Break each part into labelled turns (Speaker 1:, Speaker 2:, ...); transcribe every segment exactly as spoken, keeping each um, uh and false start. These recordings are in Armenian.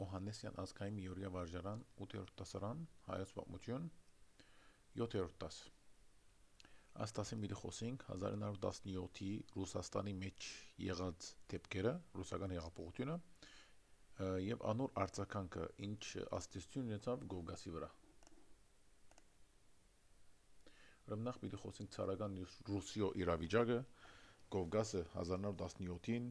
Speaker 1: Օհաննեսյան ազգային միօրյա վարժարան ութերորդ դասարան հայոց պատմություն յոթերորդ դաս Այս դասին մի խոսենք հազար ինը հարյուր տասնյոթի Ռուսաստանի մեջ եղած դեպքերը, ռուսական հեղափոխությունը եւ անոր արձագանքը ինչ ազդեցություն ունեցավ Կովկասի վրա։ Ուրեմն նախ մի խոսենք ցարական Ռուսիո իրավիճակը, Կովկասը հազար ինը հարյուր տասնյոթին,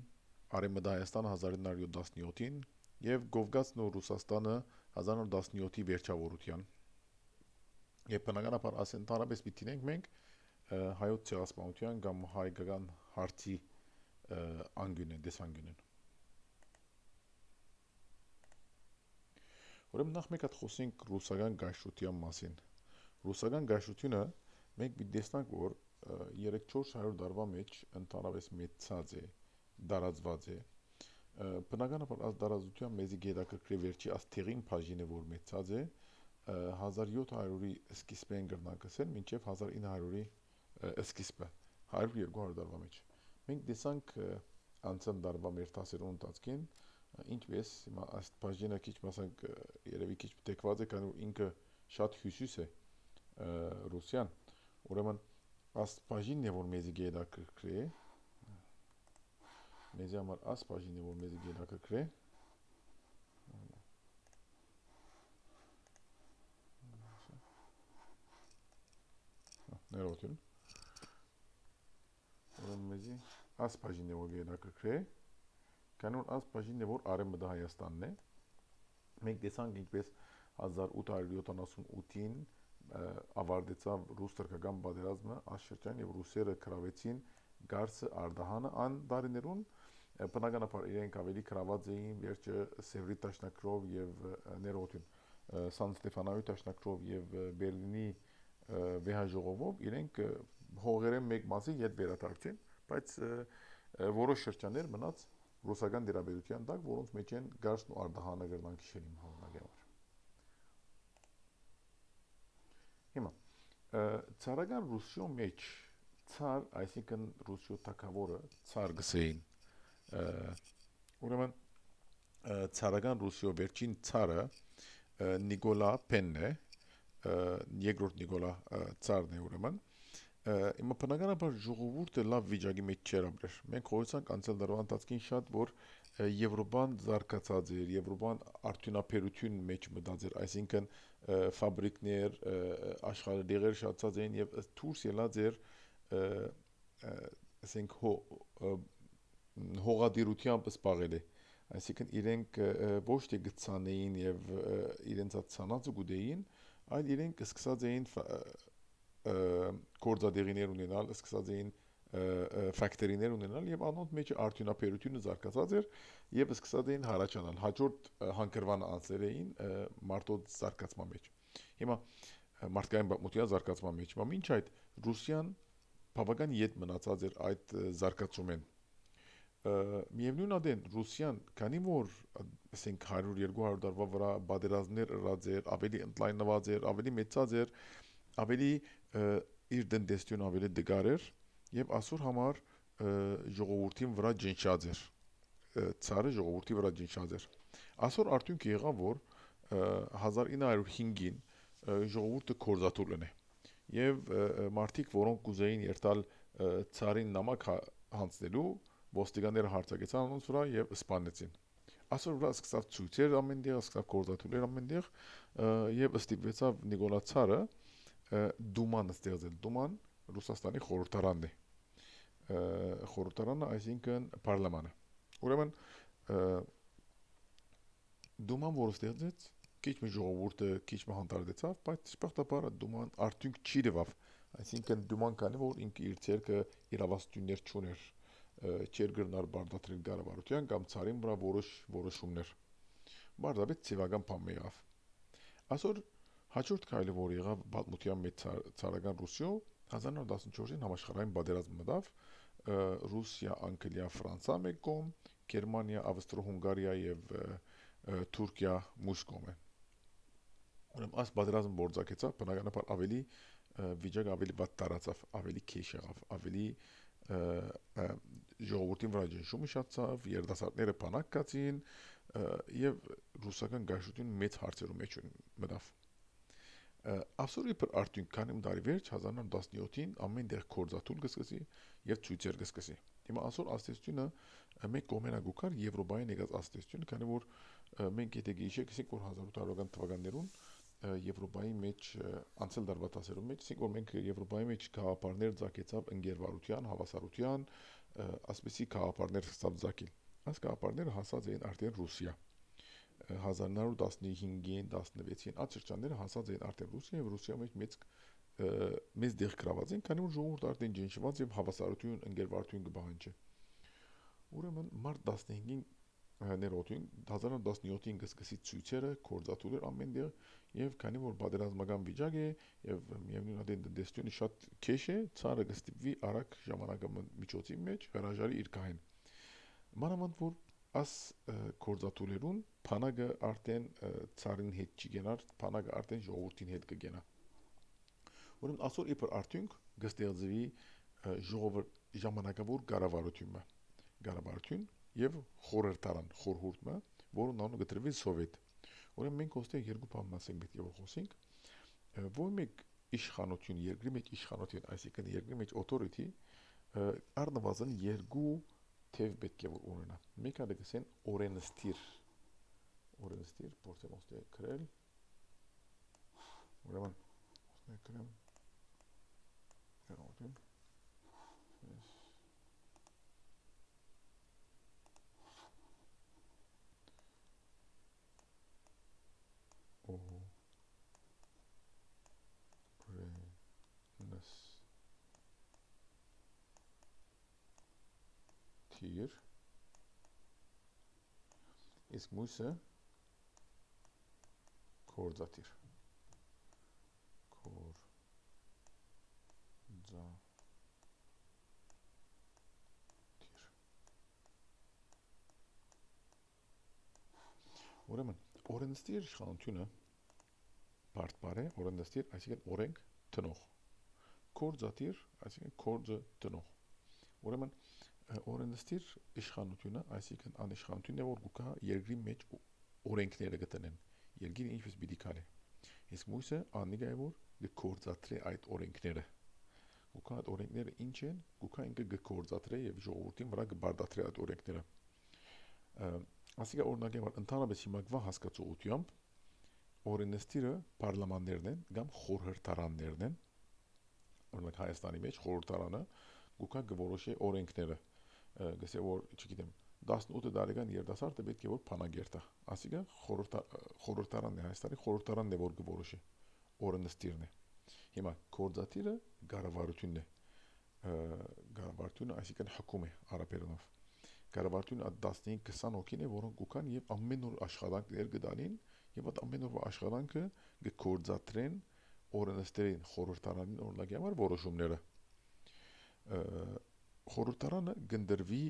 Speaker 1: Արևմտա Հայաստանը հազար ինը հարյուր տասնյոթին եւ Կովկասն ու Ռուսաստանը հազար ինը հարյուր տասնյոթի վերջավորության։ Եվ բնականաբար ասեն տարաբես պիտի ենք մենք հայոց ցեղասպանության կամ հայկական հարցի անգյունեն, դեսանգյունեն։ Ուրեմն նախ մեկ հատ խոսենք ռուսական գայշրության մասին։ Ռուսական գայշրությունը մենք պիտի տեսնենք, որ երեք-չորս հարյուր տարվա մեջ ընդհանրապես մեծած է, դարածված է։ Բնականաբար այս դարածության մեզի գետակրկրի վերջի այս թեղին բաժինը, որ մեծած է, հազար յոթ հարյուրի սկիզբեն կրնանք ասել, մինչև հազար ինը հարյուրի սկիզբը, հարյուր երկու հարյուր տարվա մեջ։ Մենք տեսանք անցան տարվա մեր դասերուն ընթացքին, ինչպես հիմա այս բաժինը քիչ մասանք երևի քիչ տեկված է, քանի որ ինքը շատ հյուսիս է Ռուսիան, ուրեմն այս բաժինն է, որ մեզի գետակրկրի է, մեզի համար այս բաժինն է, որ մեզի գետակրկրի է, ներողություն, ուրեմն մեզի այս բաժինն է, որ գետակրկրի է, քանի որ այս բաժինն է, որ Արևմտա Հայաստանն է, մենք տեսանք ինչպես հազար ութ հարյուր յոթանասունութին ավարտեցավ ռուս-թուրքական պատերազմը այս շրջան եւ ռուսերը գրավեցին Գարսը Արդահանը ան տարիներուն, բնականաբար իրենք ավելի գրաված էին վերջը Սևրի դաշնակրով եւ ներողություն Սան Ստեֆանոյի դաշնակրով եւ Բերլինի վեհաժողովով իրենք հողերեն մեկ մասի ետ վերադարձին, բայց որոշ շրջաններ մնաց ռուսական դերաբերության տակ, որոնց մեջ են Գարսն ու Արդահանը գրնան քիշել իմ հավանական համար։ Հիմա ցարական Ռուսիո մեջ ցար, այսինքն Ռուսիո թագավորը ցար գսեին, ուրեմն ցարական Ռուսիո վերջին ցարը Նիկոլա Փենն է, երկրորդ Նիկոլա ցարն է ուրեմն, Հիմա բնականաբար ժողովուրդը լավ վիճակի մեջ չէր ապրել։ Մենք խոսանք անցյալ տարվա ընթացքին շատ, որ Եվրոպան զարգացած էր, Եվրոպան արդյունաբերություն մեջ մտած էր, այսինքն ֆաբրիկներ, աշխարհդեղեր շատացած էին եւ դուրս ելած էր, ասենք հողադիրությամբ սպաղել է, այսինքն իրենք ոչ թե գցանեին եւ իրենց ցանածը գուտեին, այլ իրենք սկսած էին գործադեղիներ ունենալ, սկսած էին ֆակտորիներ ունենալ եւ անոնց մեջ արդյունաբերությունը զարգացած էր եւ սկսած էին հարաճանալ, հաջորդ հանգրվան անցել էին մարդոց զարգացման մեջ։ Հիմա մարդկային պատմության զարգացման մեջ, բայց մինչ այդ Ռուսիան բավական ետ մնացած էր այդ զարգացումեն։ Միևնույն ադեն Ռուսիան, քանի որ ասենք հարյուր երկու հարյուր տարվա վրա պատերազմներ ըրած էր, ավելի ընդլայնված էր, ավելի մեծած էր, ավելի իր տնտեսությունը ավելի դգար էր եւ այսօր համար ժողովրդին վրա ջնշած էր, ցարը ժողովրդի վրա ջնշած էր։ Այսօր արդյունքը եղավ, որ հազար ինը հարյուր հինգին ժողովուրդը կորզաթուր լինի եւ մարդիկ, որոնք կուզեին երթալ ցարին նամակ հանձնելու, ոստիկանները հարձակեցան անոնց վրա եւ սպանեցին։ Այսօր վրա սկսավ ցույցեր ամենտեղ, սկսավ կորզաթուրներ ամենտեղ եւ ստիպվեցավ Նիկոլա ցարը Դուման ստեղծել, Դուման Ռուսաստանի խորհրդարանն է, խորհրդարանը, այսինքն պարլամանը։ Ուրեմն Դուման, որ ստեղծեց, քիչ մի ժողովուրդը քիչ մի հանդարտեցավ, բայց շփոթաբար Դուման արդյունք չի տվավ, այսինքն Դուման կանի որ ինքը իր ցերկը իրավասություններ չուներ, չէր գրնար բարդատրել կառավարության կամ ցարին վրա որոշ որոշումներ։ Բարձրապես ցիվական բան եղավ։ Այսօր հաջորդ քայլը, որ եղավ պատմության մեջ ցարական Ռուսիո, հազար ինը հարյուր տասնչորսին համաշխարհային պատերազմ մտավ, Ռուսիա, Անգլիա, Ֆրանսիա մեկ կողմ, Գերմանիա, Ավստրո-Հունգարիա եւ Թուրքիա մյուս կողմը։ Ուրեմն այս պատերազմը գործակցեցավ, բնականաբար ավելի վիճակը ավելի բաց տարածավ, ավելի քեշ եղավ, ավելի ժողովրդին վրա ջնշումը շատացավ, երիտասարդները բանակ կացին, եւ ռուսական գայշություն մեծ հարցերում մեջ մտավ։ Ասորի պր արդյունք քանի դարի վերջ հազար նորը տասնյոթին ամեն դեղ կորզաթուլ գսկսի եւ ցույցեր գսկսի։ Հիմա ասոր աստեցությունը մեկ կողմենա գուկար Եվրոպայի negaz աստեցությունը, քանի որ մենք եթե գիշեք ասենք որ հազար ութ հարյուր թվականներուն Եվրոպայի մեջ անցել դարվա տասերում մեջ, ասենք որ մենք Եվրոպայի մեջ գաղափարներ ցակեցավ ընկերվարության, հավասարության, ասպեսի գաղափարներ ստավ ցակել։ Այս գաղափարները հասած էին արդեն Ռուսիա։ հազար նորը տասնհինգին, տասնվեցին աճրջանները հասած էին արդեն Ռուսիա եւ Ռուսիա մեջ մեծ մեծ դեղ գրաված են, քանի որ ժողովուրդը արդեն ջնջված եւ հավասարություն, ընկերվարություն կբահանջի։ Ուրեմն մարտ տասնհինգին ներոթին հազար նորը տասնյոթին գսկսի ցույցերը, կորզաթուլեր ամեն դեղ եւ քանի որ պատերազմական վիճակ է եւ միևնույն adեն դեստյունի շատ քեշ է, ցարը կստիպվի արագ ժամանակամիջոցի մեջ հրաժարի իր կահեն։ Մանավանդ որ As կորզաթուլերուն փանագը արդեն ցարին հետ չի գնար, փանագը արդեն ժողովրդին հետ կգնա։ Ուրեմն ասոր իբր արդյունք գստեղծվի ժողովրդ ժամանակավոր կառավարությունը, կառավարություն եւ խորհրդարան, խորհուրդը, որը նանո գտրվի սովետ։ Ուրեմն մենք ոստեղ երկու բան մասենք պետք է որ խոսենք։ Որ մեկ իշխանություն, երկրի մեջ իշխանություն, այսինքն երկրի մեջ authority առնվազն երկու թեև պետք է որ ունենա։ Մեկ հատ գսեն օրենստիր, օրենստիր, փորձեմ ոստեղ գրել։ Ուրեմն ոստեղ գրեմ։ Գրողին։ Օ Օրենս Տիր Իսկ մույսը կորզաթիր կորզաթիր Ուրեմն օրենստիր իշխանությունը բարդ է, օրենստիր, այսինքն օրենք տնող, կորզաթիր, այսինքն կորձը տնող։ Ուրեմն օրենստիր իշխանությունը, այսինքն անիշխանությունն է, որ գուկա երկրի մեջ օրենքները գտնեն, երկիրը ինչպես պիտի քարի։ Իսկ մույսը անիգա է որ կորզաթրի այդ օրենքները։ Գուկա այդ օրենքները ինչ են, գուկա ինքը կորզաթրի եւ ժողովրդին վրա կբարդաթրի այդ օրենքները։ Ասիկա օրինակ որ ընդհանրապես հիմակվա հասկացողությամբ օրենստիրը պարլամաններն են կամ խորհրդարաններն են։ Օրինակ Հայաստանի մեջ խորհրդարանը գուկա գորոշի օրենքները գսե որ չգիտեմ տասնութ տարեկան երիտասարդը պետք է որ փանագերտա ասիկա խորհրդարանն է Հայաստանի խորհրդարանն է որ գորոշի օրենստիրն է հիմա կորզաթիրը կառավարությունն է կառավարությունը այսինքն հակում է արաբերենով կառավարությունը տասնհինգ քսան հոգին է որոնք գուքան եւ ամեն օր աշխատանքներ կդանին եւ այդ ամեն օրվա աշխատանքը կկորզաթրեն օրենստերին խորհրդարանին օրինակ համար որոշումները խորհրդարանը գնդրվի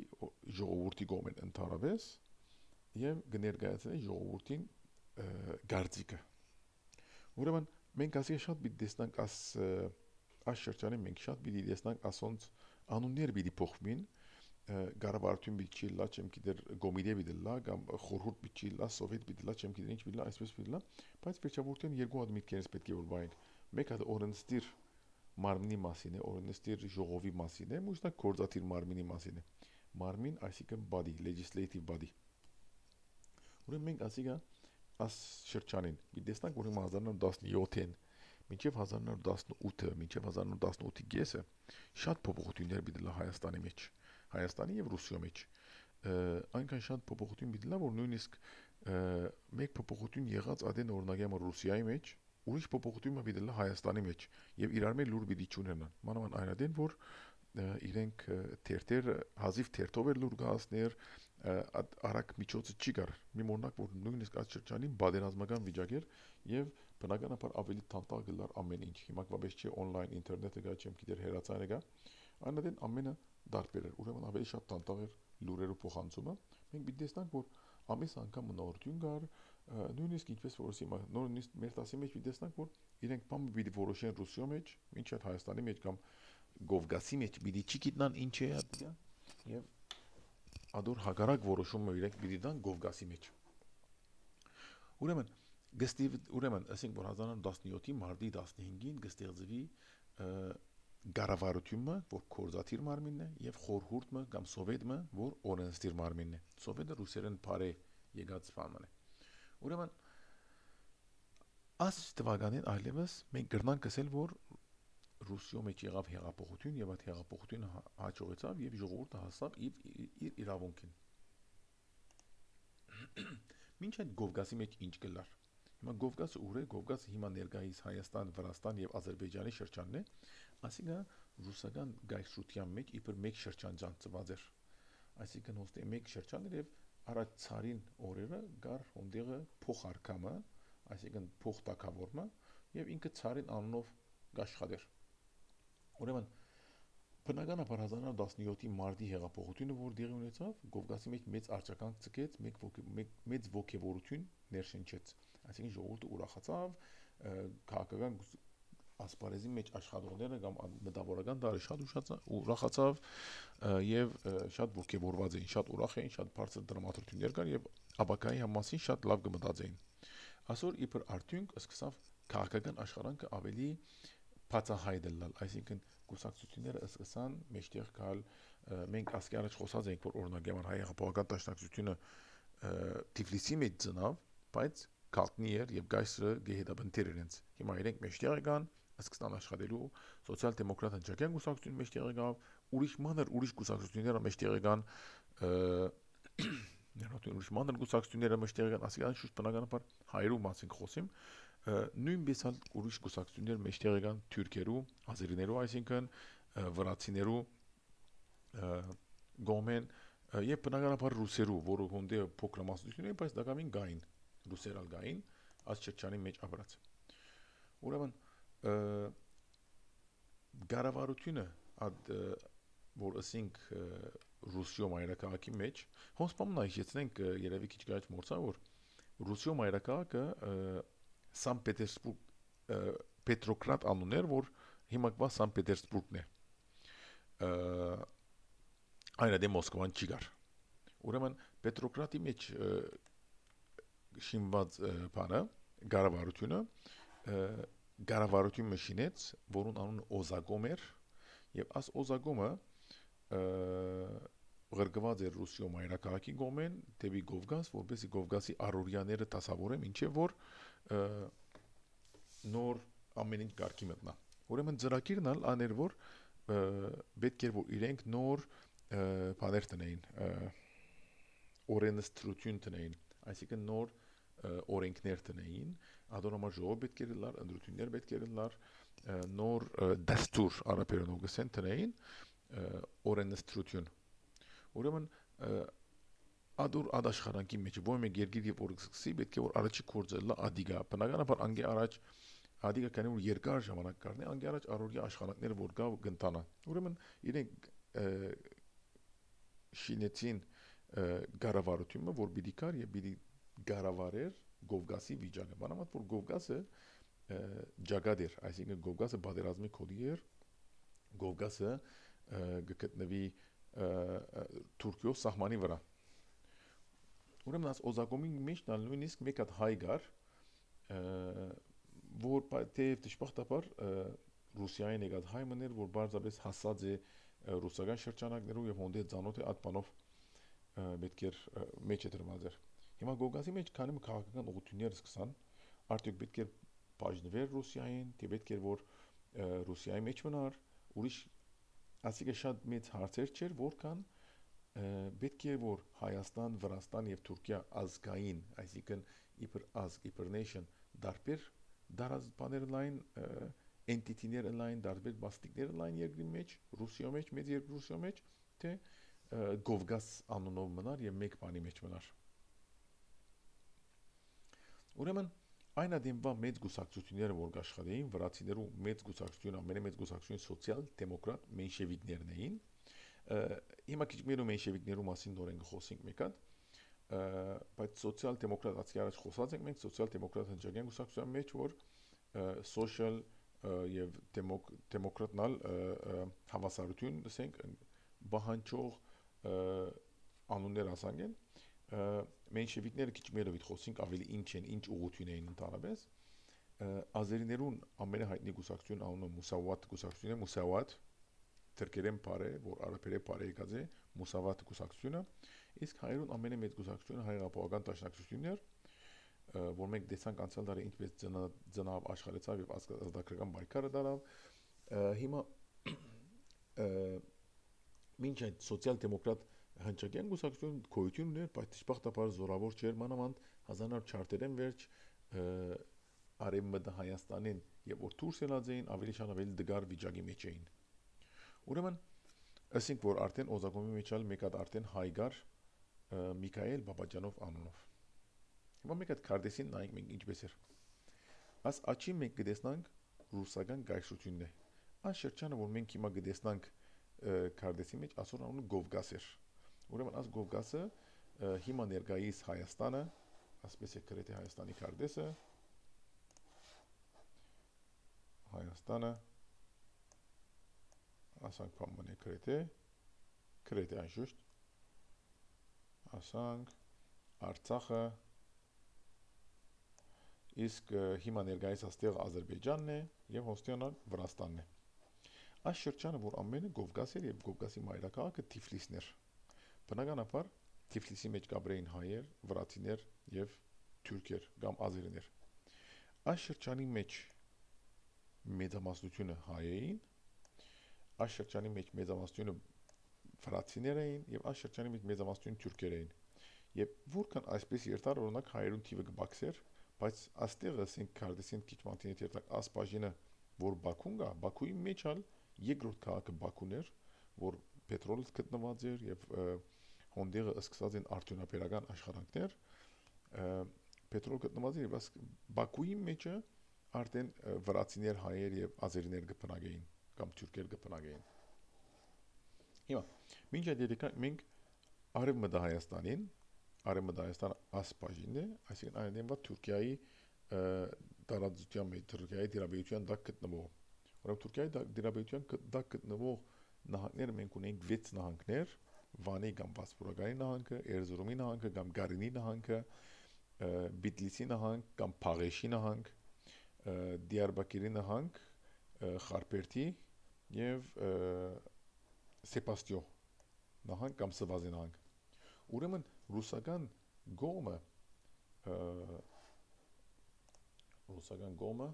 Speaker 1: ժողովրդի կողմեն ընդհանրապես եւ կներկայացնի ժողովրդին գարձիկը ուրեմն մենք ասի շատ պիտի տեսնանք աս այս շրջանի մենք շատ պիտի տեսնանք ասոնց անուններ պիտի փոխվին կառավարություն պիտի լա չեմ գիտեր գոմիդե պիտի լա կամ խորհուրդ պիտի լա սովետ պիտի լա չեմ գիտեր ինչ պիտի լա այսպես պիտի լա բայց վերջավորության երկու հատ միտքերից պետք է որ բայենք մեկ հատ օրենստիր մարմնի մասին է օրենստիր ժողովի մասին է մյուսն կորզաթիր մարմինի մասին է մարմին այսինքն body legislative body ուրեմն մենք ասիկա աս շրջանին մի տեսնանք որ հազար նորը տասնյոթին մինչև հազար նորը տասնութը մինչև հազար նորը տասնութի կեսը շատ փոփոխություններ պիտի լա Հայաստանի մեջ Հայաստանի եւ Ռուսիա մեջ այնքան շատ փոփոխություն պիտի լա որ նույնիսկ մեկ փոփոխություն եղած adեն օրինակ եմ Ռուսիայի մեջ ուրիշ փոփոխություն պիտի լա Հայաստանի մեջ եւ իրար մեջ լուր պիտի չունենան մանավանդ այնադեն որ իրենք թերթեր հազիվ թերթով էր լուր գասներ արագ միջոցը չի գար մի մոնակ որ նույնիսկ այդ շրջանին բادرազմական վիճակ էր եւ բնականաբար ավելի տանտալ գլար ամեն ինչ հիմա կվաբես չի on-line ինտերնետը գա չեմ գիտեր հերացանը գա այնադեն ամենը դարբեր էր ուրեմն ավելի շատ տանտալ էր լուրերու փոխանցումը մենք պիտի տեսնանք որ ամիս անգամ նորություն գար նույնիսկ ինչպես որ հիմա նույնիսկ մեր տասի մեջ պիտի տեսնանք որ իրենք բամ պիտի որոշեն Ռուսիա մեջ մինչև Հայաստանի մեջ կամ Գովգասի մեջ պիտի չգիտնան ինչ է դա եւ ադոր հագարակ որոշումը իրենք պիտի դան Գովգասի մեջ Ուրեմն գստի ուրեմն ասենք որ հազար նոց տասնյոթի մարտի տասնհինգին գստեղծվի գարավարությունը, որ կորզաթիր մարմինն է, եւ խորհուրդը կամ սովետը, որ օրենսդիր մարմինն է։ Սովետը ռուսերեն բարե եկած բանն է։ Ուրեմն աս տվականին այլևս մենք գրնանք ասել, որ Ռուսիո մեջ եղավ հեղափոխություն եւ այդ հեղափոխությունը հաջողեցավ եւ ժողովուրդը հասավ իր իրավունքին։ Մինչ այդ Կովկասի մեջ ինչ կլար։ Հիմա Կովկասը ուր է, Կովկասը հիմա ներկայիս Հայաստան, Վրաստան եւ Ադրբեջանի շրջանն է, այսինքն ռուսական գայսրության մեջ իբր մեկ շրջան ճանաչված էր։ Այսինքն ոստի մեկ շրջան էր եւ առաջ ցարին օրերը գար ոնդեղը փոխարկամը, այսինքն փոխտակավորումը եւ ինքը ցարին անունով գաշխատեր։ Ուրեմն բնականաբար հազար նոց տասնյոթի մարտի հեղափոխությունը, որ դեղի ունեցավ, Կովկասի մեջ մեծ արճականք ցկեց, մեծ ոգևորություն ներշնչեց։ Այսինքն ժողովուրդը ուրախացավ, քաղաքական ասպարեզի մեջ աշխատողները կամ մտավորական դարը շատ ուրախացավ եւ շատ ոգևորված էին, շատ ուրախ էին, շատ բարձր դրամատրություններ կար եւ ապակայի համասին շատ լավ կմտածեին։ Այսօր իբր արդյունք սկսավ քաղաքական աշխարհանքը ավելի բացահայտ լալ, այսինքն կուսակցությունները սկսան մեջտեղ գալ, մենք ասկի առաջ խոսած ենք, որ օրինակ համար հայ հեղափոխական դաշնակցությունը Թիֆլիսի մեջ ծնավ, բայց քալտնի էր եւ գայսրը գեհետաբնտեր իրենց։ Հիմա իրենք մեջտեղ եկան, սկսան աշխատելու, սոցիալ-դեմոկրատ հնչակյան կուսակցությունը մեջտեղ եկավ, ուրիշ մանր ուրիշ կուսակցությունները մեջտեղ եկան, ներողություն, ուրիշ մանր կուսակցությունները մեջտեղ եկան, ասիկան շուտ բնականաբար հայերու մասին խոսիմ, նույնպես հալ ուրիշ կուսակցություններ մեջտեղ եկան թուրքերու, ազերիներու, այսինքն վրացիներու գոմեն եւ բնականաբար ռուսերու, որը հոնդե փոքրամասնություն է, բայց դակամին գային, ռուսերալ գային, աս չրջանի մեջ ապրած։ Ուրեմն գարավարությունը ad որ ասենք Ռուսիո մայրաքաղաքի մեջ հոնց բամնա հիշեցնենք երևի քիչ գայց մորցա որ Ռուսիո մայրաքաղաքը Սան Պետերսբուրգ Պետրոկրատ անուններ որ հիմա կվա Սան Պետերսբուրգն է այնա դե Մոսկվան չի գար ուրեմն Պետրոկրատի մեջ շինված բանը գարավարությունը գարավարություն մշինեց որուն անունը Օզագոմ էր եւ աս Օզագոմը գրգված էր Ռուսիո մայրաքաղաքի գոմեն դեպի Կովկաս, որպեսզի Կովկասի առօրյաները դասավորեն, ինչեւ որ նոր ամեն ինչ կարգի մտնա։ Ուրեմն ծրագիրն ալ աներ որ պետք էր որ իրենք նոր բաներ տնեին, օրենսդրություն տնեին, այսինքն նոր օրենքներ տնեին, ադոնամար ժողով պետք էր լար, ընդրություններ պետք էր լար, նոր դաստուր արաբերենով գսեն տնեին, օրենսդրություն։ Ուրեմն ադուր ադաշխարանքի մեջ ո՞ր մեկ երկիր եւ որ սկսի պետք է որ առաջի կորձը լա ադիգա բնականաբար անգե առաջ ադիգա կանի որ երկար ժամանակ կառնի անգե առաջ առօրյա աշխատանքները որ գա գնտանա ուրեմն իրենք շինեցին գարավարությունը որ պիտի կար եւ պիտի գարավարեր Կովկասի վիճակը բանամատ որ Կովկասը ջագադ էր այսինքն Կովկասը բادرազմի կոդի էր Կովկասը գտնվի Թուրքիո սահմանի վրա ուրեմն աս Օզագոմի մեջ նույնիսկ մեկ հատ հայ գար որ թեև դժբախտաբար Ռուսիային եկած հայ մներ որ բարձրապես հասած է ռուսական շրջանակներով եւ հոնդե ցանոթ է այդ բանով պետք էր մեջ է դրված էր հիմա Կովկասի մեջ քանի քաղաքական ուղղություններ սկսան արդյոք պետք էր բաժնվել Ռուսիային թե պետք էր որ Ռուսիայի մեջ մնար ուրիշ ասիկա շատ մեծ հարցեր չէր որքան պետք է որ Հայաստան, Վրաստան եւ Թուրքիա ազգային, այսինքն իբր ազգ, իբր nation դարբեր դարած բաներ լայն entity-ներ լայն դարբեր բաստիկներ լայն երկրի մեջ, Ռուսիո մեջ, մեծ երկրի Ռուսիո մեջ, թե Կովկաս անունով մնար եւ մեկ բանի մեջ մնար։ Ուրեմն այն ադեմվա մեծ գուսակցությունները որ աշխատեին, վրացիներու մեծ գուսակցությունը, ամենամեծ գուսակցությունը սոցիալ-դեմոկրատ մենշևիկներն էին։ Հիմա քիչ մերո մենշևիկներու մասին նորեն խոսենք մեկ հատ, բայց սոցիալ-դեմոկրատ ասի առաջ խոսած ենք մենք սոցիալ-դեմոկրատ հնչակյան գուսակցության մեջ որ social եւ դեմոկրատնալ հավասարություն ասենք բահանջող անուններ ասանք են Մենշևիկները քիչ մերովիտ խոսենք ավելի ինչ են, ինչ ուղղություն էին ընդհանրապես։ Ազերիներուն ամենահայտնի գուսակցություն անունը Մուսավատ գուսակցությունն է, Մուսավատ թրքերեն բարե, որ արաբերեն բարե եկած է, Մուսավատ գուսակցությունը, իսկ հայերուն ամենամեծ գուսակցությունը հայերապողական դաշնակցությունն էր, որ մենք տեսանք անցյալ տարի ինչպես ծնավ աշխարհեցավ եւ ազատագրական պայքարը դարավ։ Հիմա մինչ այդ սոցիալ-դեմոկրատ հնչակյան գուսակցություն գոյություն ուներ, բայց դժբախտաբար զորավոր չէր, մանավանդ հազար նոր չարտերեն վերջ արևմտա Հայաստանին եւ որ դուրս ելած էին ավելի շան ավելի դգար վիճակի մեջ էին։ Ուրեմն ասենք որ արդեն Օզագոմի մեջ ալ մեկ հատ արդեն հայգար Միքայել Բաբաջանով անունով։ Հիմա մեկ հատ քարտեզին նայենք մենք ինչպես էր։ Աս աչի մենք կտեսնանք ռուսական գայշությունն է։ Այս շրջանը որ մենք հիմա կտեսնանք քարտեզի մեջ ասոր անունը Գովգաս էր։ Ուրեմն աս Գովգասը հիմա ներկայիս Հայաստանը, ասպես է գրեթե Հայաստանի քարտեզը, Հայաստանը, ասանք պաման է գրեթե, գրեթե անշուշտ, ասանք Արցախը, իսկ հիմա ներկայիս աստեղ Ադրբեջանն է եւ հոստյանը Վրաստանն է։ Այս շրջանը որ ամենը Գովգաս էր եւ Գովգասի մայրաքաղաքը Թիֆլիսն էր։ Բնականաբար Թիֆլիսի մեջ կաբրեին հայեր, վրացիներ եւ թուրքեր կամ ազերիներ։ Այս շրջանի մեջ մեծամասնությունը հայ էին, այս շրջանի մեջ մեծամասնությունը վրացիներ էին եւ այս շրջանի մեջ մեծամասնությունը թուրքեր էին։ Եվ որքան այսպես երթար օրինակ հայերուն թիվը կբացեր, բայց աստեղ ասենք քարտեզին քիչ մատինետ երթակ ասպաժինը որ Բաքուն գա, Բաքուի մեջ ալ երկրորդ քաղաքը Բաքուն էր, որ պետրոլը գտնված էր եւ հոնդերը սկսած են արդյունաբերական աշխատանքներ, պետրոլ գտնված էր եւ Բաքուի մեջը արդեն վրացիներ, հայեր եւ ազերիներ կբնակեին կամ թուրքեր կբնակեին։ Հիմա մինչ այդ եկեք մենք արևմտա Հայաստանին, արևմտա Հայաստանը ասպաժինն է, այսինքն այնտեղ Թուրքիայի տարածության մեջ Թուրքիայի դիրաբեյության դակ գտնվող։ Ուրեմն Թուրքիայի դիրաբեյության դակ գտնվող նահանգները մենք ունենք վեց նահանգներ, Վանի կամ Բասպուրականի նահանգը, Էրզրումի նահանգը կամ Գարինի նահանգը, Բիթլիսի նահանգ կամ Փաղեշի նահանգ, Դիարբակիրի նահանգ, Խարպերտի եւ Սեբաստիո նահանգ կամ Սվազի նահանգ։ Ուրեմն ռուսական գոմը ռուսական գոմը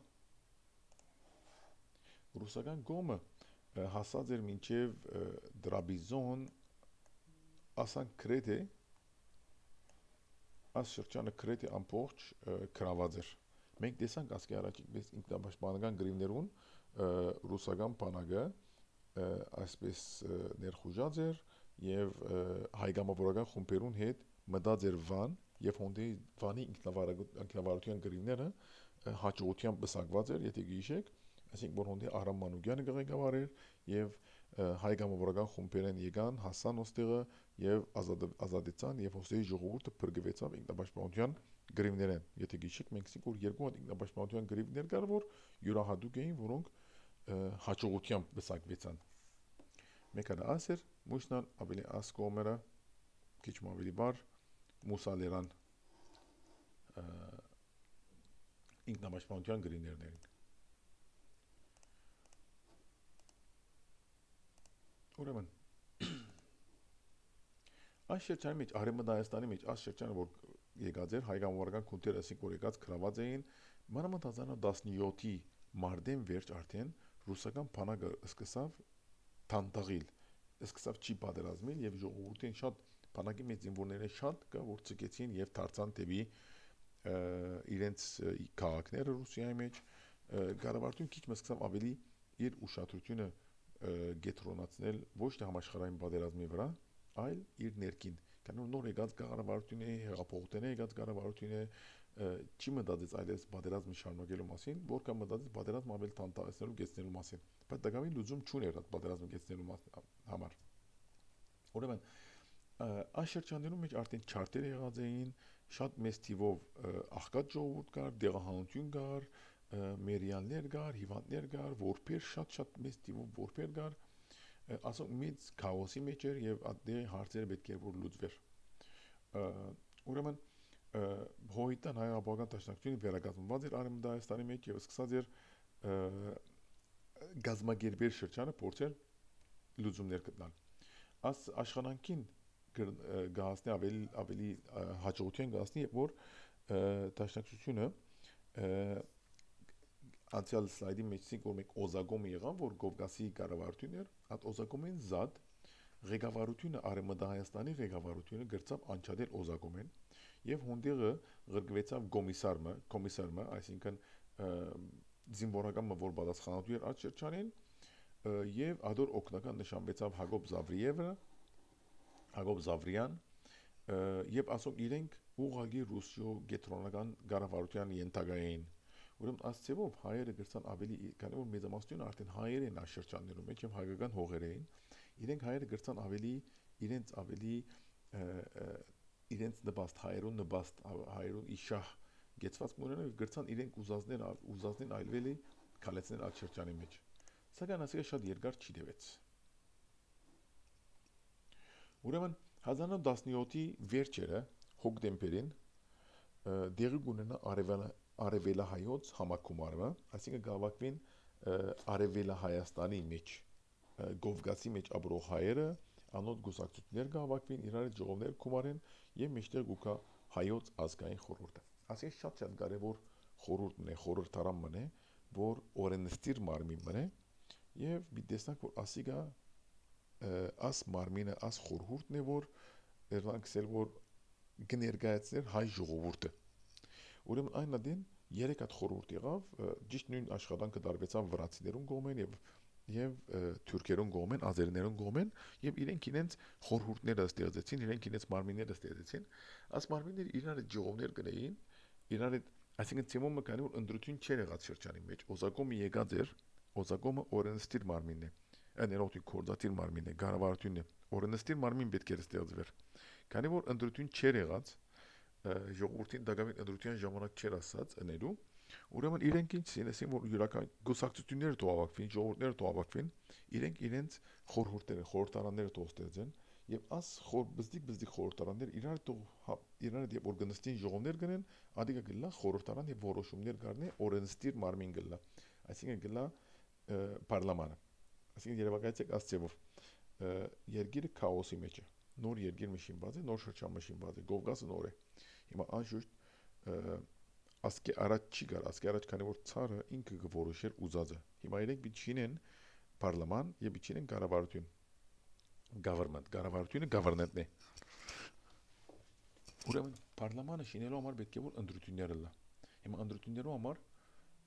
Speaker 1: ռուսական գոմը հասած էր մինչև Դրաբիզոն ասանք Կրետե աս շրջանը Կրետե ամբողջ գրաված էր։ Մենք տեսանք ասկի առաջ ինքնապաշտպանական գրիվներուն ռուսական բանակը այսպես ներխուժած էր եւ հայգամավորական խումբերուն հետ մտած էր Վան եւ հոնդի Վանի ինքնավարության գրիվները հաջողությամբ բսակված էր, եթե գիշեք, այսինքն որ հոնդի Արամ Մանուկյանը ղեկավարեր եւ հայգամավորական խումբերեն եկան հասան ոստեղը եւ ազատեցան եւ հոսեի ժողովուրդը բրգվեցավ ինքնապաշտպանության գրիվներեն։ Եթե գիշեք մենք ասենք որ երկու հատ ինքնապաշտպանության գրիվներ կար, որ յուրահատուկ էին, որոնք հաջողությամբ բսակվեցան։ Մեկը դա ասեր, մուշնան ավելի ասկոմերը քիչ ավելի բար մուսալերան ինքնապաշտպանության գրիվներն էին։ Ուրեմն այս շրջանի մեջ արևմտա Հայաստանի մեջ այս շրջանը որ եկած էր հայգամավորական քունտերը ասենք որ եկած գրաված էին մանավանդ հազար տասնյոթի մարտին վերջ արդեն ռուսական բանակը սկսավ թանտաղիլ սկսավ չի պատերազմել եւ ժողովուրդին շատ բանակի մեջ զինվորները շատ կա որ ցկեցին եւ դարձան դեպի իրենց քաղաքները Ռուսիայի մեջ կառավարությունը քիչ մսկսավ ավելի իր ուշադրությունը գետրոնացնել ոչ թե համաշխարհային պատերազմի վրա, այլ իր ներքին։ Կանոն նոր եկած կառավարությունը, հեղափոխությունը եկած կառավարությունը չի մտածեց այլևս պատերազմը շարունակելու մասին, որքան մտածեց պատերազմը ավելի տանտարեցնելու, գեցնելու մասին։ Բայց դակամի լուծում չուներ այդ պատերազմը գեցնելու համար։ Ուրեմն այս շրջաններում մեջ արդեն չարտեր եղած էին, շատ մեծ թիվով աղքատ ժողովուրդ կար, դեղահանություն կար, մերյաններ կար, հիվանդներ կար, որբեր շատ-շատ մեծ թիվով որբեր կար, ասում մեծ քաոսի մեջ էր եւ այդտեղ հարցերը պետք էր որ լուծվեր։ Ուրեմն հոյիտան հայ-ապական դաշնակցությունը վերակազմված էր Արևմտյան Հայաստանի մեջ եւ սկսած էր գազագերբեր շրջանը փորձել լուծումներ գտնել։ Աս աշխատանքին գահացնի ավելի ավելի հաջողության գահացնի, որ դաշնակցությունը անցյալ սլայդի մեջ ցինք որ մենք օզագոմը եղան, որ Կովկասի կառավարությունն էր, այդ օզագոմեն զատ ղեկավարությունը Արևմտյան Հայաստանի ղեկավարությունը գրծավ անչադել օզագոմեն եւ հոնդեղը գրգվեցավ կոմիսարը, կոմիսարը, այսինքն զինվորականը, որ պատասխանատու էր այդ շրջանին, եւ ադոր օկնական նշանվեցավ Հակոբ Զավրիևը, Հակոբ Զավրյան, եւ ասոք իրենք ուղղակի ռուսիո գետրոնական կառավարության ենթակային Ուրեմն ասցեվով հայերը գրցան ավելի, քանի որ մեծամասնությունը արդեն հայեր են աշրջաններում մեջ եւ հայկական հողեր էին, իրենք հայերը գրցան ավելի իրենց ավելի իրենց նպաստ հայերուն նպաստ հայերուն իշահ գեցված մուրենը գրցան իրենք ուզածներ ուզածին այլվելի քալեցնել աշրջանի մեջ։ Սակայն ասիկա շատ երկար չի տևեց։ Ուրեմն հազար նույնսուն տասնյոթի վերջերը հոկտեմբերին դեղի կունենա արևելա Արևելահայոց համակումարը, այսինքն գավակվին Արևելահայաստանի մեջ Կովկասի մեջ ապրող հայերը անոտ գուսակցություններ գավակվին իրար ժողովներ կումարեն եւ մեջտեղ գուկա հայոց ազգային խորհուրդը։ Այսինքն շատ շատ կարեւոր խորհուրդն է, խորհրդարանն է, որ օրենստիր մարմինն է եւ մի տեսնակ որ ասիգա աս մարմինը աս խորհուրդն է, որ երբանքսել որ կներկայացներ հայ ժողովուրդը։ Ուրեմն այն adin երեք հատ խորհուրդ եղավ, ճիշտ նույն աշխատանքը դարվեցավ վրացիներուն կողմեն եւ եւ թուրքերուն կողմեն, ազերիներուն կողմեն եւ իրենք իրենց խորհուրդները ստեղծեցին, իրենք իրենց մարմինները ստեղծեցին, աս մարմինները իրար ժողովներ կնեին, իրար այսինքն ցեմոմը կանի որ ընդրություն չէր եղած շրջանի մեջ, օզակոմը եկած էր, օզակոմը օրենստիր մարմինն է, ներողություն կորզատիր մարմինն է, կառավարությունն է, օրենստիր մարմին պետք է ստեղծվեր, քանի որ ընդրություն չէր եղած ժողովրդին դակավին ընդրության ժամանակ չէր ասած ընելու, ուրեմն իրենք ինչ սինեսին, որ յուրական գուսակցությունները թողավակվին, ժողովուրդները թողավակվին, իրենք իրենց խորհուրդները, խորհրդարանները թողստեղծեն եւ աս խոր բզդիկ բզդիկ խորհրդարաններ իրար թող իրար դեպ օրգանիզացին ժողովներ գնեն, ադիգա գլա խորհրդարան եւ որոշումներ գարնի օրենստիր մարմին գլա, այսինքն գլա պարլամանը, այսինքն երևակայեցեք ասցեվով երգիրը քաոսի մեջ է, նոր երգիր մշինված է, նոր շրջան մշինված է, Կովկասը նոր է։ Հիմա անշուշտ ասկե առաջ չի գար, ասկե առաջ քանի որ ցարը ինքը կորոշեր ուզածը։ Հիմա իրենք բիչինեն պարլաման եւ բիչինեն կառավարություն։ Government, կառավարությունը government-ն է։ Ուրեմն պարլամանը շինելու համար պետք է որ ընդրությունները լա։ Հիմա ընդրություններու համար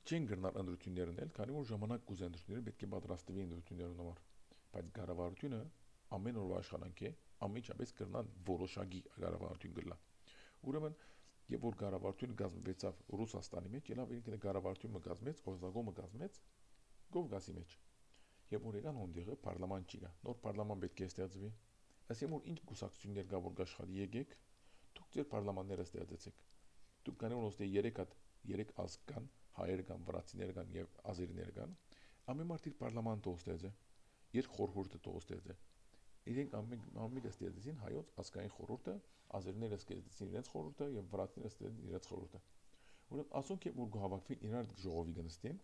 Speaker 1: չեն գրնալ ընդրություններն էլ, քանի որ ժամանակ կուզեն ընդրությունները պետք է պատրաստվի ընդրություններուն համար։ Բայց կառավարությունը ամեն օրվա աշխատանք է, ամենջապես կրնան որոշակի կառավարություն գլա։ Ուրեմն եւ որ կառավարությունը գազմվեցավ Ռուսաստանի մեջ, ելավ ինքն կառավարությունը գազմեց, օզագոմը գազմեց Կովկասի մեջ։ Եվ որ եկան հոնդեղը պարլաման չի գա, նոր պարլաման պետք է ստեղծվի։ Այսինքն որ ինչ կուսակցություններ կա որ աշխատի եկեք, դուք ձեր պարլամանները ստեղծեցեք։ Դուք կանի որ ոստե երեք հատ երեք ազգ կան, հայեր կան, վրացիներ կան եւ ազերիներ կան։ Ամեն մարդ իր պարլաման տոստեց է, իր խորհուրդը տոստեց է։ Իրենք ամեն ամենը ստեղծեցին հայոց ազգային խորհուրդը, ազերիները ստեղծեցին իրենց խորհուրդը եւ վրացիները ստեղծեցին իրենց խորհուրդը։ Ուրեմն ասոնք որ գահավաքվին իրար ժողովի գնստին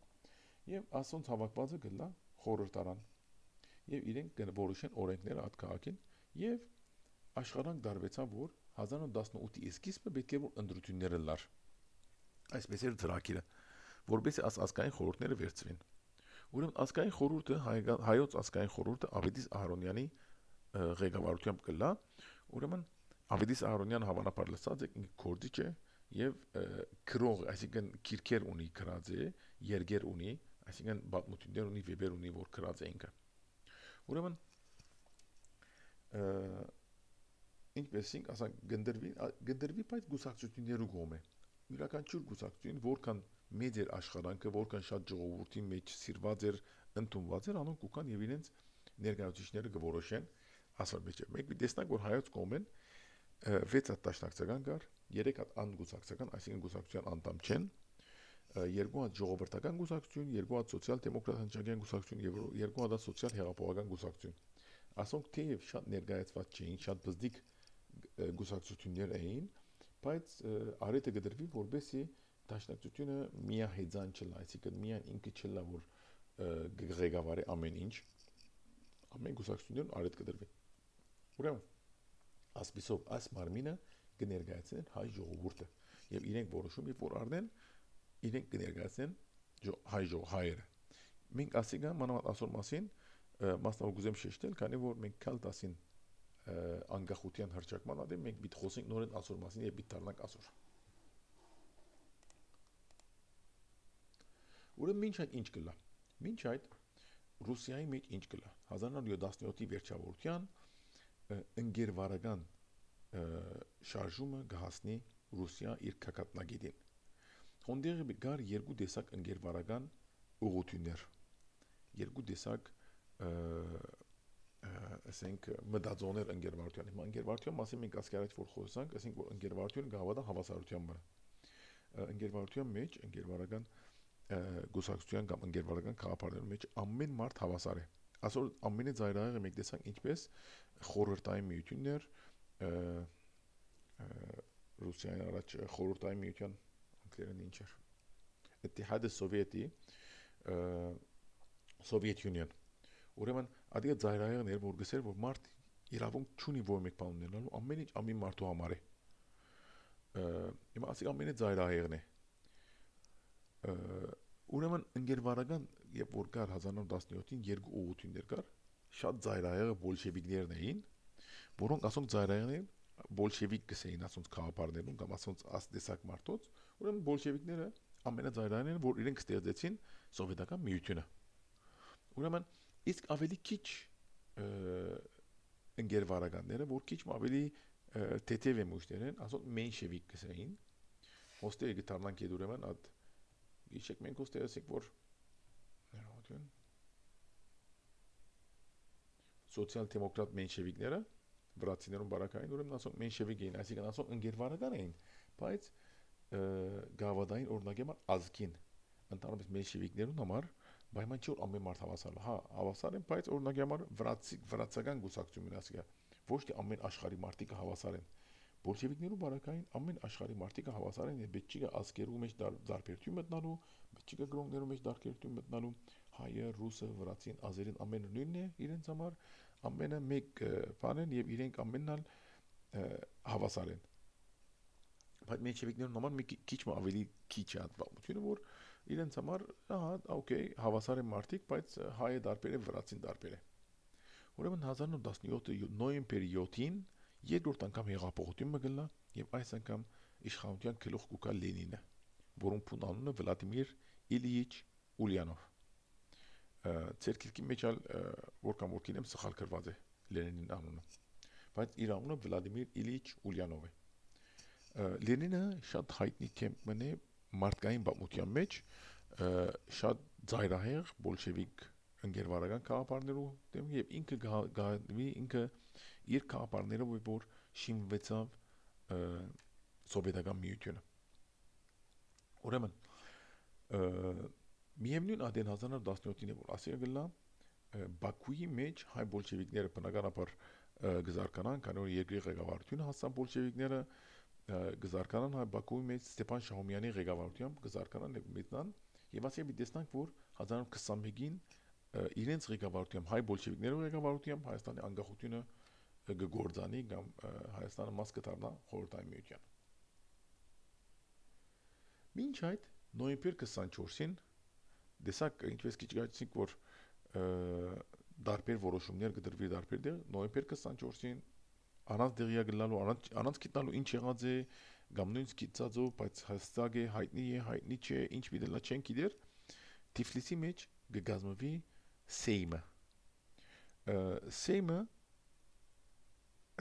Speaker 1: եւ ասոնց հավաքվածը գլա խորհրդարան եւ իրենք կնորոշեն օրենքները այդ քաղաքին եւ աշխարհանք դարվեցավ որ հազար նույնսուն տասնութի սկիզբը պետք է որ ընդրությունները լար այսպես էր ծրագիրը որովհետեւ աս ազգային խորհուրդները վերծվին ուրեմն ազգային խորհուրդը հայոց ազգային խորհուրդը Ավետիս Ահարոնյանի ղեկավարությամբ կլա ուրեմն Ավետիս Ահարոնյանը հավանաբար լսած է կորձիչ է եւ քրող այսինքն քիրքեր ունի քրած է երգեր ունի այսինքն բազմություններ ունի վեբեր ունի որ քրած է ինքը ուրեմն ինչպես ինք ասա գնդրվի գնդրվի բայց գուսակցություններու կողմ է յուրաքանչյուր գուսակցություն որքան մեծ էր աշխատանքը որքան շատ ժողովրդի մեջ սիրված էր ընդունված էր անոնք կան եւ իրենց ներկայացուցիչները կորոշեն ասալ մեջ մեկ տեսնանք որ հայոց կողմեն վեց հատ դաշնակցական կար երեք հատ անգուսակցական այսինքն գուսակցության անդամ չեն երկու հատ ժողովրդական գուսակցություն երկու հատ սոցիալ-դեմոկրատ հնչակյան գուսակցություն եւ երկու հատ սոցիալ հեղափոխական գուսակցություն ասոնք թեև շատ ներկայացված չէին շատ բզդիկ գուսակցություններ էին բայց արետը գդրվի, որբեսի դաշնակցությունը միահեծան չլա, այսինքն միայն ինքը չլա, որ ղեկավարի ամեն ինչ, ամեն կուսակցություններում արետ կդրվի։ Ուրեմն, ասպիսով այս մարմինը կներկայացնեն հայ ժողովուրդը եւ իրենք որոշում եւ որ առնեն իրենք կներկայացնեն հայ ժողովուրդը։ Մենք ասիկա մանավանդ ասոր մասին մասնավոր գուզեմ շեշտել, քանի որ մենք կալ տասին անկախության հռչակման ադեմ մենք պիտի խոսենք նորեն ասոր մասին եւ պիտի դառնանք ասոր։ Ուրեմն ինչ այդ ինչ կլա։ Մինչ այդ Ռուսիայի մեջ ինչ կլա։ հազար նոր յոթանասյոթի վերջավորության ընկերվարական շարժումը կհասնի Ռուսիա իր քակատնագետին։ Հոնդեղի գար երկու տեսակ ընկերվարական ուղղություններ։ Երկու տեսակ ասենք մտածողներ ընկերվարության։ Հիմա ընկերվարության մասին մենք ասկարած որ խոսանք, ասենք որ ընկերվարությունը գավադա հավասարության վրա։ Ընկերվարության մեջ ընկերվարական գուսակցության կամ ընկերվարական քաղաքապարների մեջ ամեն մարդ հավասար է։ Այսօր ամենը ծայրահեղը մենք տեսանք ինչպես խորհրդային միություններ Ռուսիայի առաջ խորհրդային միության անգլերեն ինչ էր։ Իttihad Սովետի Soviet Union։ Ուրեմն ադիա ծայրահեղն էր որ գսեր որ մարդ իրավունք չունի որ մեկ բան ունենալու ամեն ինչ ամեն մարդու համար է։ Հիմա ասի ամենը ծայրահեղն է։ Ուրեմն ընկերվարական երբ որ կար հազար նոր տասնյոթին երկու ուղղություններ կար, շատ ծայրահեղը բոլշևիկներն էին, որոնք ասոնք ծայրահեղն բոլշևիկ կսեին ասոնց քաղաքապարներում կամ ասոնց աստեսակ մարդոց, ուրեմն բոլշևիկները ամենածայրահեղն են, որ իրենք ստեղծեցին սովետական միությունը։ Ուրեմն իսկ ավելի քիչ ընկերվարականները, որ քիչ ավելի թեթև էմուշներ են, ասոնք մենշևիկ կսեին, ոստերը գտարնանք եդ ուրեմն այդ Իշեք մենք ոստերսիկ որ ներողություն սոցիալ-դեմոկրատ մենշևիկները վրացիներուն բարակային ուրեմն ասոնք մենշևիկ էին, այսինքն ասոնք ընկերվարական էին, բայց գավադային օրինակի համար ազգին ընդհանրապես մենշևիկներուն համար պայման չի որ ամեն մարդ հավասար է, հա, հավասար են, բայց օրինակի համար վրացի վրացական գուսակցությունն ասիկա ոչ թե ամեն աշխարհի մարդիկ հավասար են։ Բոլշևիկներու բարակային ամեն աշխարհի մարդիկը հավասար են եւ պետք չի ազգերու մեջ դարբերություն մտնալու, պետք չի գրոններու մեջ դարբերություն մտնալու, հայը, ռուսը, վրացին, ազերին ամենը նույնն է իրենց համար, ամենը մեկ բան են եւ իրենք ամենն ալ հավասար են։ Բայց մեջևիկներուն համար մի քիչ ավելի քիչ է հատվածությունը, որ իրենց համար, ահա, օքեյ, հավասար են մարդիկ, բայց հայը դարբեր է, վրացին դարբեր է։ Ուրեմն հազար նոր տասնյոթի նոյեմբերի յոթին երկրորդ անգամ հեղափոխություն մգլա եւ այս անգամ իշխանության գլուխ կուկա Լենինը, որում փուն անունը Վլադիմիր Իլիիչ Ուլյանով։ Ցերկլիկի մեջ ալ որ կամ որ կինեմ սխալ գրված է Լենինին անունը, բայց իր անունը Վլադիմիր Իլիիչ Ուլյանով է։ Լենինը շատ հայտնի թեմն է մարդկային պատմության մեջ, շատ ծայրահեղ բոլշևիկ ընկերվարական քաղաքապարներու դեմ եւ ինքը գահվի ինքը իր քաղաքապարներով որ շինվեցավ սովետական միությունը։ Ուրեմն միևնույն ադեն հազար նոր տասնյոթին է որ ասիա գլա Բաքուի մեջ հայ բոլշևիկները բնականաբար գզարկանան, քանի որ երկրի ղեկավարությունը հասան բոլշևիկները գզարկանան հայ Բաքուի մեջ Ստեփան Շահումյանի ղեկավարությամբ գզարկանան եւ մետնան եւ ասիա մի տեսնանք որ հազար նոր քսանմեկին իրենց ղեկավարությամբ հայ բոլշևիկներու ղեկավարությամբ Հայաստանի անկախությունը գգործանի կամ Հայաստանը մաս կդառնա խորհրդային միության։ Մինչ այդ նոյեմբեր քսանչորսին դեսակ ինչպես քիչ գացինք որ դարբեր որոշումներ կդրվի դարբեր դեր նոյեմբեր քսանչորսին առանց դեղիա գլալու առանց առանց գտնալու ինչ եղած է կամ նույնիսկ գիտածո բայց հստակ է հայտնի է հայտնի չէ ինչ պիտելա չեն գիտեր Թիֆլիսի մեջ կգազմվի Սեյմը Սեյմը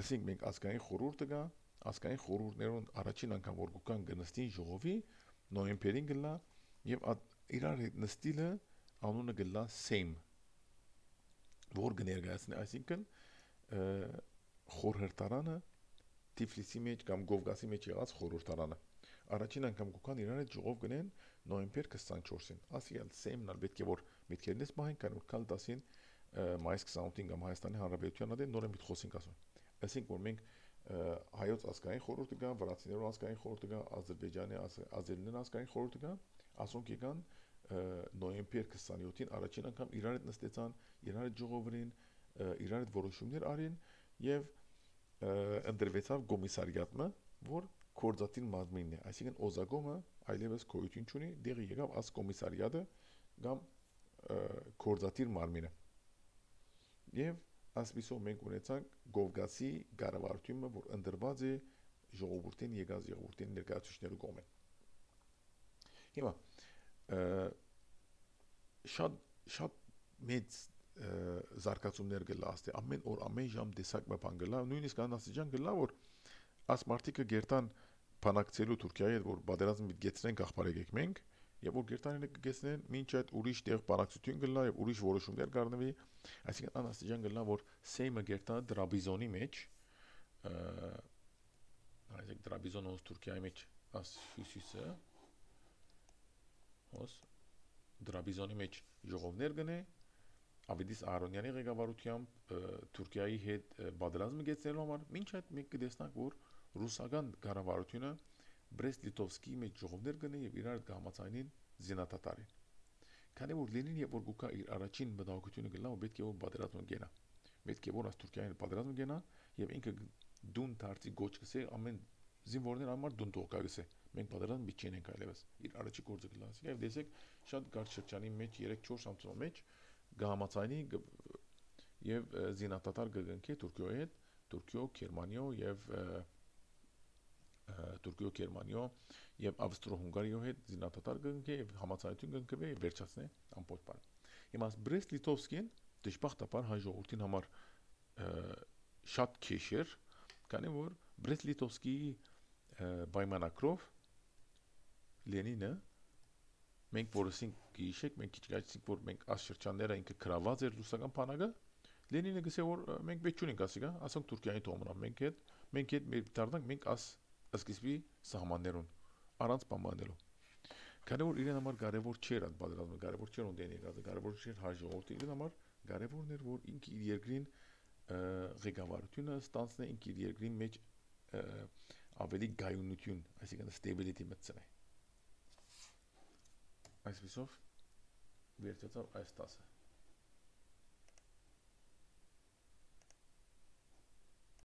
Speaker 1: ասենք մենք ազգային խորհուրդը կա ազգային խորհուրդներուն առաջին անգամ որ կան գնստին ժողովի նոյեմբերին գլա եւ իրար հետ նստիլը անունը գլա Սեյմ որ կներկայացնի այսինքն խորհրդարանը Թիֆլիսի մեջ կամ Գովգասի մեջ եղած խորհրդարանը առաջին անգամ կան իրար հետ ժողով գնեն նոյեմբեր քսանչորսին ասիալ Սեյմն ալ պետք է որ միտքերնես մահեն կան որ կալ տասին մայիս քսանութին կամ Հայաստանի Հանրապետության ադեն նորեն մի խոսենք ասում ասենք որ մենք հայոց ազգային խորհուրդը կա, վրացիներու ազգային խորհուրդը կա, Ադրբեջանի ազերիներու ազգային խորհուրդը կա, ասոնք եկան նոյեմբեր քսաներկուին առաջին անգամ իրար հետ նստեցան, իրար հետ ժողովրին, իրար հետ որոշումներ արին եւ ընդրվեցավ կոմիսարիատը, որ կորզատին մազմինն է, այսինքն օզագոմը այլևս գոյություն չունի, դեղի եկավ աս կոմիսարիատը կամ կորզատիր մարմինը։ Եվ ասպիսով մենք ունեցանք Գովգասի կառավարությունը, որ ընդրված է ժողովրդին եկած ժողովրդին ներկայացուցիչներու կողմեն։ Հիմա շատ շատ մեծ զարգացումներ գլա աստե ամեն օր ամեն ժամ տեսակ բան գլա, նույնիսկ անաստիճան գլա, որ աս մարտիկը գերտան բանակցելու Թուրքիայի հետ, որ պատերազմ գեցնեն աղբարեք մենք, եւ որ գերտանը կգեցնեն մինչ այդ ուրիշ տեղ բանակցություն գլա եւ ուրիշ որոշումներ կառնվի, այսինքն անաստիճան գլա, որ Սեյմը գերտա Դրաբիզոնի մեջ, այսինքն Դրաբիզոնը ոնց Թուրքիայի մեջ աս հյուսիսը, ոնց Դրաբիզոնի մեջ ժողովներ գնե, Ավետիս Ահարոնյանի ղեկավարությամբ Թուրքիայի հետ պատերազմ գեցնելու համար, մինչ այդ մենք կտեսնանք, որ ռուսական կառավարությունը Բրեստ-Լիտովսկի մեջ ժողովներ գնե եւ իրար կհամաձայնին զինադատարին։ Քանի որ Լենին եւ որ գուկա իր առաջին մտահոգությունը գլա, որ պետք է որ պատերազմ գնա։ Պետք է որ աս Թուրքիային պատերազմ գնա եւ ինքը դուն դարձի գոչ կսե ամեն զինվորներ համար դուն տողկա գսե։ Մենք պատերազմ մի չենք այլևս։ Իր առաջի գործը գլա։ Եվ դեսեք շատ կարճ շրջանի մեջ երեք-չորս ամսվա մեջ կհամաձայնի եւ զինադատար կգնքի Թուրքիոյի հետ, Թուրքիո, Գերմանիո եւ Թուրքիո, Գերմանիո եւ Ավստրո-Հունգարիո հետ զինադատար կգնքի եւ համաձայնություն կգնքվի եւ վերջացնի ամբողջ բանը։ Հիմա Բրեստ-Լիտովսկին դժբախտաբար հայ ժողովրդին համար շատ քեշ էր, քանի որ Բրեստ-Լիտովսկի պայմանակրով Լենինը մենք որսին գիշեք, մենք քիչ գացինք, որ մենք աս շրջանները ինքը գրաված էր ռուսական բանակը, Լենինը գսե որ մենք պետք չունենք ասիկա, ասենք Թուրքիայի թողնա մենք հետ, մենք հետ մեր դառնանք մենք աս սկիզբի սահմաններուն առանց բանանելու։ Քանի որ իրեն համար կարևոր չէր այդ պատերազմը, կարևոր չէր ունդեն եկածը, կարևոր չէր հայ ժողովրդի իրեն համար կարևորն էր որ ինքը իր երկրին ղեկավարությունը ստանցնե ինքը իր երկրին մեջ ավելի գայունություն, այսինքն stability մտցնե։ Այսպիսով վերջացավ այս տասը